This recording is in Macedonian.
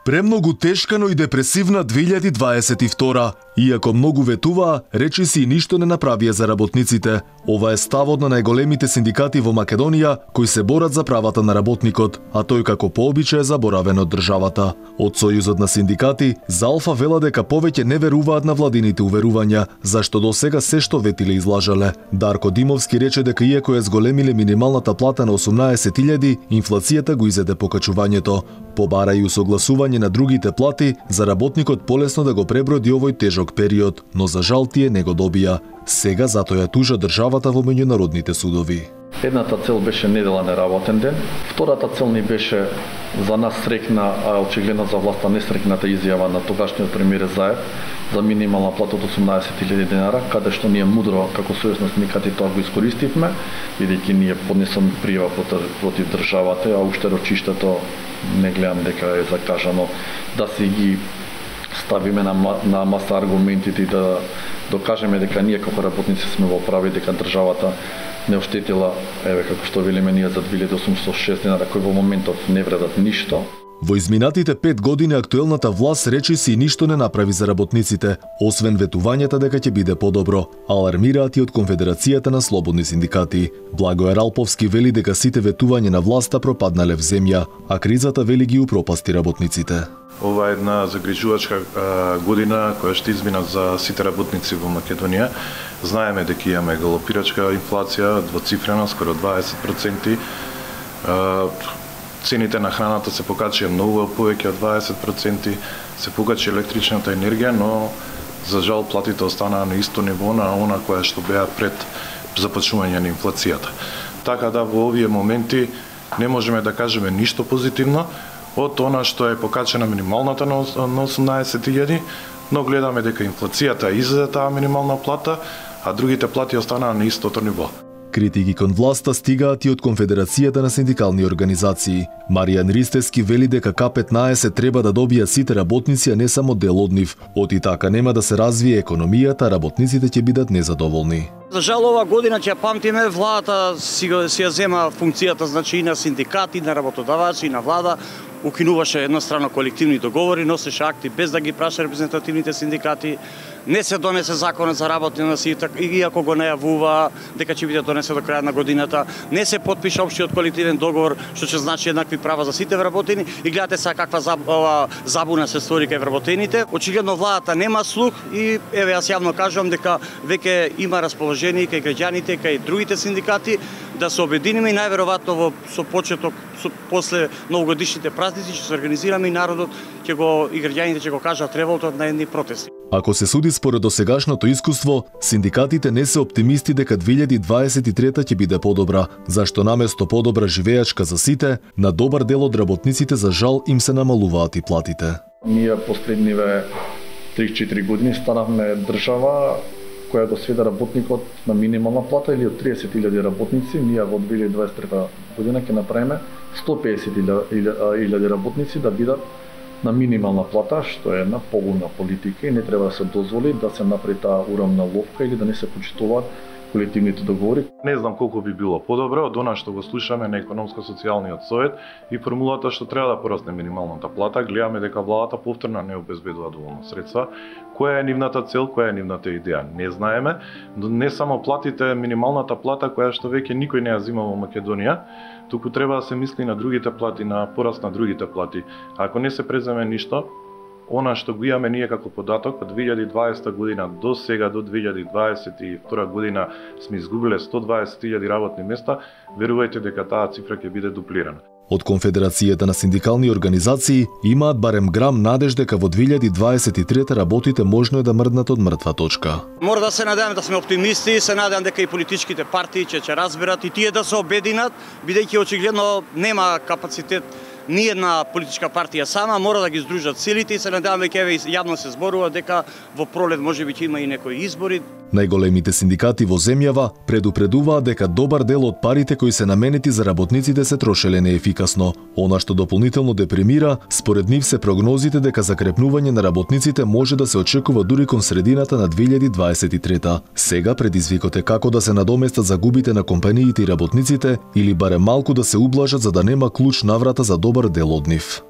Премногу тешка, но и депресивна 2022. Иако многу ветуваа, речиси и ништо не направија за работниците. Ова е ставот на најголемите синдикати во Македонија, кои се борат за правата на работникот, а тој како пообичај е заборавен од државата. Од Сојузот на синдикати, за Алфа вела дека повеќе не веруваат на владините уверувања, зашто до сега се што ветиле излажале. Дарко Димовски рече дека иако ја зголемиле минималната плата на 18.000, инфлацијата го изеде покачувањето. Побара и усогласување на другите плати за работникот полесно да го преброди овој тежок период, но за жал тие не го добија. Сега затоа ја тужа државата во меѓународните судови. Едната цел беше недела неработен ден, втората цел ни беше за нас срекна, а очигледно за власта несрекната изјава на тогашниот премиер Заев за минимална плата од 18.000 денара, каде што ние мудро како Сојуз на синдикати тоа го искористивме, бидејќи ние поднесоме пријава против државата, а уште рочиштето не гледам дека е закажано да си ги ставиме на маса аргументите и да докажеме дека ние како работници сме во прави, дека државата не оштетила, еве како што велиме ние за 2806 денара, кои во моментов не вредат ништо. Во изминатите 5 години актуелната власт речиси и ништо не направи за работниците, освен ветувањата дека ќе биде подобро, алармираат и од Конфедерацијата на слободни синдикати. Благоер Алповски вели дека сите ветувања на власта пропаднале в земја, а кризата вели ги упропасти работниците. Ова е една загрижувачка година која ще измина за сите работници во Македонија. Знаеме дека имаме галопирачка инфлација, двоцифрена, скоро 20%. Цените на храната се покачија многу повеќе од 20%, се покачи електричната енергија, но за жал платите останаа на исто ниво на она која што беа пред започнување на инфлацијата. Така да во овие моменти не можеме да кажеме ништо позитивно од она што е покачена минималната на 18.000, но гледаме дека инфлацијата изеде таа минимална плата, а другите плати останаа на истото ниво. Критики кон власта стигаат и од Конфедерацијата на синдикални организации. Маријан Ристевски вели дека К15 треба да добија сите работници, а не само дел од нив. Оти така нема да се развие економијата, работниците ќе бидат незадоволни. За жал ова година ќе памтиме, владата си ја зема функцијата, значи и на синдикати, на работодавачи, и на влада. Укинуваше еднострано колективни договори, носеше акти без да ги праша репрезентативните синдикати. Не се донесе законот за работни односи, иако го најавува дека ќе биде донесе до крајот на годината. Не се потпиша општиот колективен договор, што ќе значи еднакви права за сите вработени. И гледате сега каква забуна се створи кај вработените. Очигледно владата нема слух и еве јас јавно кажувам дека веќе има расположение кај граѓаните, кај другите синдикати да се обединиме и најверојатно со почеток после новогодишните празници ќе се организираме и народот и граѓаните ќе го кажат револтот на едни протести. Ако се суди според досегашното искуство, синдикатите не се оптимисти дека 2023 ќе биде подобра, зашто наместо подобра живеачка за сите, на добар дел од работниците за жал им се намалуваат и платите. Ние последниве 3-4 години станавме држава која го сведе работникот на минимална плата или од 30.000 работници, ние во 2023 година ќе направиме 150.000 работници да бидат на минимална плата, што е една погубна политика и не треба да се дозволи да се направи таа урамна ловка или да не се почитуваат колективните договори. Не знам колку би било подобро од она што го слушаме на економско-социјалниот совет и формулата што треба да порасне минималната плата. Гледаме дека владата повторно не обезбедува доволно средства. Која е нивната цел, која е нивната идеја? Не знаеме, но не само платите, минималната плата која што веќе никој не ја зима во Македонија, туку треба да се мисли на другите плати, на пораст на другите плати. Ако не се преземе ништо, она што го имаме ние како податок од 2020 година до сега, до 2022 година сме изгубиле 120.000 работни места, верувајте дека таа цифра ќе биде дуплирана. Од Конфедерацијата на синдикални организации имаат барем грам надеж дека во 2023 работите можно е да мрднат од мртва точка. Мора да се надеваме да сме оптимисти, се надевам дека и политичките партии ќе разберат и тие да се обединат, бидејќи очигледно нема капацитет ни една политичка партија сама, мора да ги здружат силите и се надеваме дека јавно се зборува дека во пролет можеби ќе има и некои избори. Најголемите синдикати во земјава предупредуваат дека добар дел од парите кои се наменети за работниците се трошеле неефикасно. Она што дополнително депремира, според нив се прогнозите дека закрепнување на работниците може да се очекува дури кон средината на 2023. Сега предизвикот е како да се надоместат загубите на компаниите и работниците или барем малку да се ублажат за да нема клуч наврата за добар дел од нив.